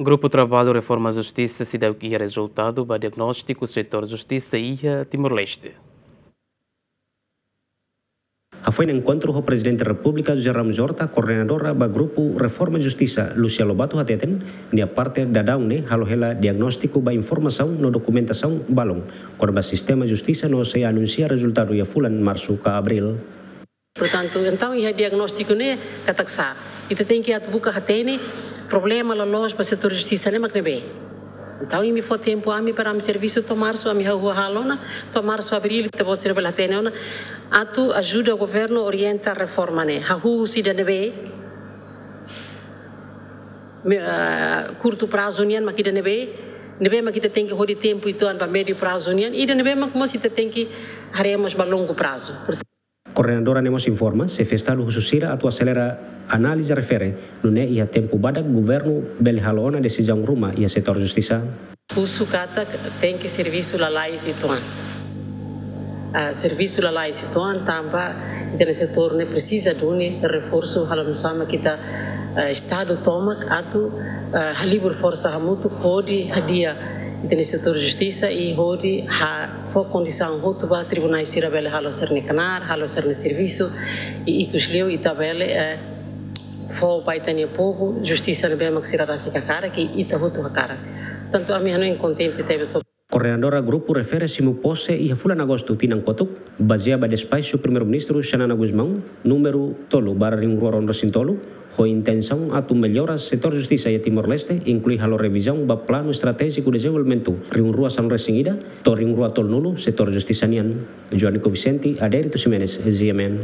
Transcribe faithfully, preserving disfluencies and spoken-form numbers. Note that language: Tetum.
Grupu Traballu Reforma Justisa seidauk iha rezultadu ba diagnóstiku setór justisa iha Timor-Leste. Hafoin enkontru ho Prezidente Repúblika José Ramos Horta, koordenadora ba Grupu Reforma Justisa, Lúcia Lobato hateten, nia parte daudaun ne'e halo hela diagnóstiku ba informasaun no dokumentasaun balun kona-ba sistema justisa no sei anunsia rezultadu iha fulan Marsu ka Abríl. Portantu, entaun iha diagnóstiku ne'e katak sá, ita tenke atu buka hatene problema loloos ba setór justisa ne'e mak ne'ebé. Entaun, imi fó tempu ami para ami servisu to'o Marsu, ami hahú halo ona, to'o Marsu, Abríl, ita-boot sira bele hatene ona, atu ajuda governu orienta reforma ne'e. Hahú husi ida ne'ebé, me-, ah, kurtu prazu nian mak ida ne'ebé, ne'ebé mak ita tenke hodi tempu uitoan ba médiu prazu nian, ida ne'ebé mak mós ita tenke haree mós ba longu prazu. Koordenadora ne'e mós informa, xefe Estadu husu sira atu aselera análize refere, nune'e iha tempu badak governu bele halo ona desizaun ruma iha setór justisa. Husu katak tenke servisu lalais uitoan. Ah, servisu lalais uitoan tanba ita-nia setór ne'e presiza duni reforsu, halo nusá mak ita, ah, Estadu tomak atu, ah, halibur forsa hamutuk hodi hadi'a ita-nia setór justisa i hodi ha fó kondisaun hotu ba tribunais sira bele halo sira-nia knaar, halo sira-nia servisu, i ikus liu ita bele, eh, fó ba ita-nia povu justisa ne'ebé mak sira rasik hakarak, i ita hotu hakarak. Tantu ami hanoin kontente tebes ho. Koordenadora grupu refere simu pose iha fulan Agostu tinan kotuk, bazeia ba despaxu Primeiru-Ministru Xanana Gusmão, númeru tolu barra rihun rua ruanulu-resin-tolu, ho intensaun atu mellora setór justisa iha Timor-Leste, inklui halo revizaun ba Planu Estratéjiku Dezenvolvimentu rihun rua sanulu-resin-ida to'o rihun rua tolunulu, setór justisa nian. Joanico Vicente, Adérito Ximenes, G M N.